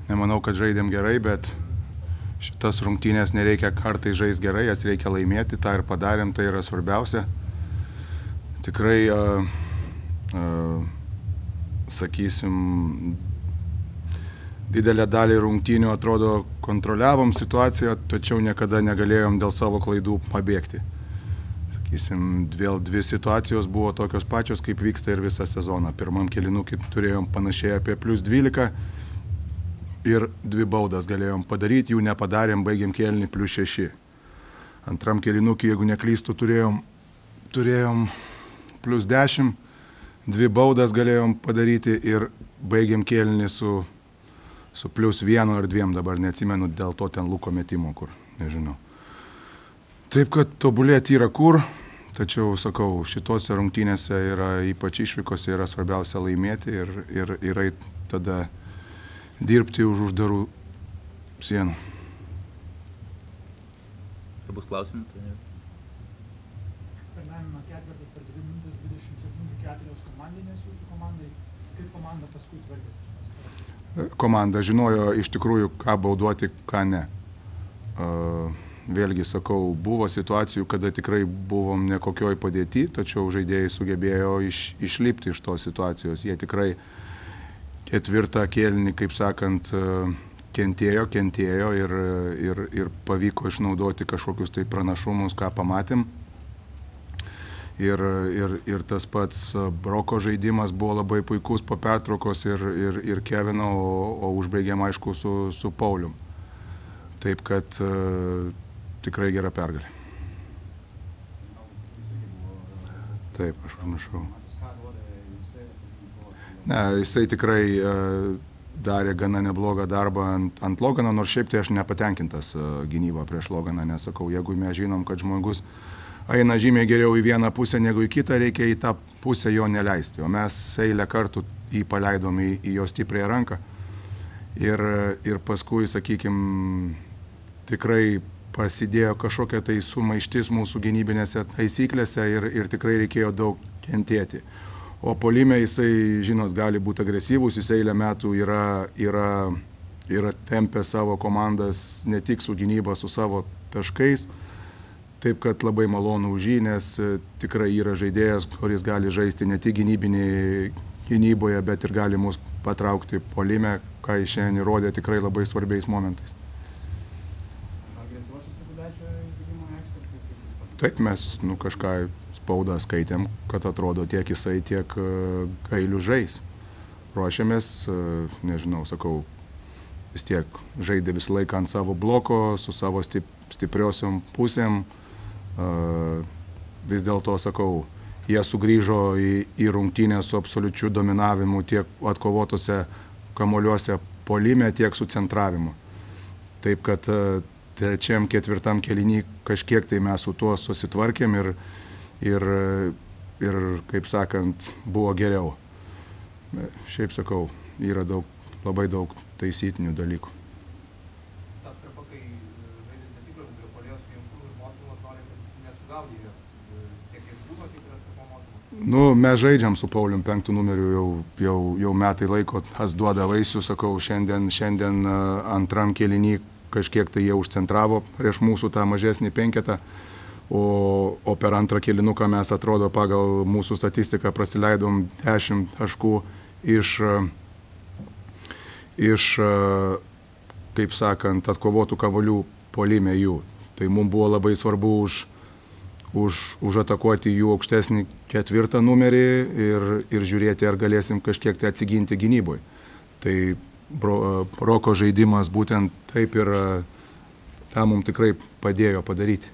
nemanau, kad žaidėm gerai, bet šitas rungtynės nereikia kartai žaisti gerai, jas reikia laimėti, tą ir padarėm, tai yra svarbiausia. Tikrai, sakysim, didelę dalį rungtynių atrodo kontroliavom situaciją, tačiau niekada negalėjom dėl savo klaidų pabėgti. Sakysim, dvi situacijos buvo tokios pačios, kaip vyksta ir visą sezoną. Pirmam kėlinukį turėjom panašiai apie +12 ir 2 baudas galėjom padaryti, jų nepadarėm, baigėm kėlinį +6. Antram kėlinukį, jeigu neklystu, turėjom +10, 2 baudas galėjom padaryti ir baigėm kėlinį su +1 ar 2, dabar neatsimenu, dėl to ten Luko metimo, kur, nežinau. Taip, kad tobulėti yra kur, tačiau, sakau, šitose rungtynėse yra, ypač išvykose, yra svarbiausia laimėti ir yra tada dirbti už uždarų sienų. Ar bus klausimų? Pirmajame ketvirtį per 2 minutės 20 sekundžių 4 komandinės jūsų komandai. Kaip komanda paskui tvarkėsi? Komanda žinojo iš tikrųjų, ką baudoti, ką ne. Vėlgi sakau, buvo situacijų, kada tikrai buvom nekokioj padėti, tačiau žaidėjai sugebėjo išlipti iš tos situacijos. Jie tikrai ketvirtą kėlinį, kaip sakant, kentėjo ir pavyko išnaudoti kažkokius tai pranašumus, ką pamatėm. Ir tas pats Broko žaidimas buvo labai puikus po pertraukos ir Kevino, o užbaigėm aišku su Paulium. Taip kad tikrai gera pergalė. Taip, aš užmiršau. Ne, jisai tikrai darė gana neblogą darbą ant Logano, nors šiaip tai aš nepatenkintas gynybą prieš Loganą, nesakau, jeigu mes žinom, kad žmogus eina žymiai geriau į vieną pusę negu į kitą, reikia į tą pusę jo neleisti. O mes eilę kartų jį paleidom į jo stipriąją ranką. Ir paskui, sakykime, tikrai prasidėjo kažkokia tai sumaištis mūsų gynybinėse taisyklėse ir tikrai reikėjo daug kentėti. O puolime jisai, žinot, gali būti agresyvus, jis eilę metų yra tempę savo komandas ne tik su gynyba, su savo taškais. Taip, kad labai malonu už jį, nes tikrai yra žaidėjas, kuris gali žaisti ne tik gynyboje, bet ir gali mus patraukti puolime, ką jis šiandien įrodė tikrai labai svarbiais momentais. Taip, mes kažką spaudą skaitėm, kad atrodo tiek jisai, tiek Gailius žais. Ruošiamės, nežinau, sakau, vis tiek žaidė visą laiką ant savo bloko, su savo stipriosiom pusėm. Vis dėlto, sakau, jie sugrįžo į rungtynę su absoliučiu dominavimu tiek atkovotose kamuoliuose puolime, tiek su centravimu. Taip, kad trečiam, ketvirtam kėliny kažkiek tai mes su tuo susitvarkėm ir kaip sakant, buvo geriau. Šiaip sakau, yra labai daug taisytinių dalykų. Mes žaidžiam su Paulium 5 numeriu jau metai laiko, tas duoda vaisių, sakau, šiandien antram kėliny kažkiek tai jie užcentravo prieš mūsų tą mažesnį penketą, o per antrą kėlinuką mes atrodo pagal mūsų statistiką prasileidom 10 taškų iš, kaip sakant, atkovotų kamuolių puolime jų. Tai mums buvo labai svarbu užatakuoti jų aukštesnį 4 numerį ir žiūrėti, ar galėsim kažkiek tai atsiginti gynyboje. Tai Broko žaidimas būtent taip ir tą mums tikrai padėjo padaryti.